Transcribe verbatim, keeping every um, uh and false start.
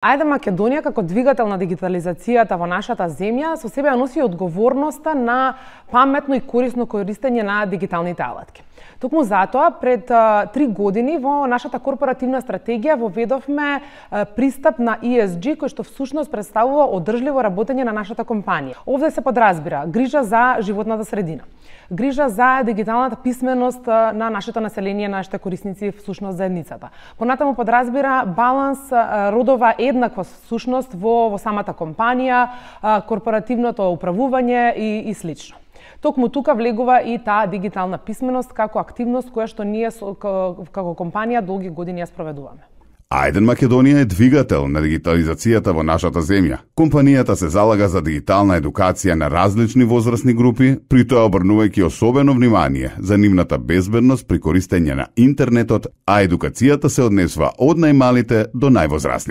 Ајде Македонија како двигател на дигитализацијата во нашата земја со себе ја носи одговорноста на паметно и корисно користење на дигиталните алатки. Токму затоа пред три години во нашата корпоративна стратегија воведовме пристап на И Ес Джи кој што всушност представува одржливо работење на нашата компанија. Овде се подразбира грижа за животната средина, грижа за дигиталната писменост на нашето население, нашите корисници, всушност заедницата. Понатаму подразбира баланс, родова еднаква всушност во, во самата компанија, корпоративното управување и, и слично. Токму тука влегува и таа дигитална писменост како активност која што ние како компанија долги години ја спроведуваме. Ајден Македонија е двигател на дигитализацијата во нашата земја. Компанијата се залага за дигитална едукација на различни возрастни групи, при тоа обрнувајќи особено внимание за нивната безбедност при користење на интернетот, а едукацијата се однесува од најмалите до највозрастните.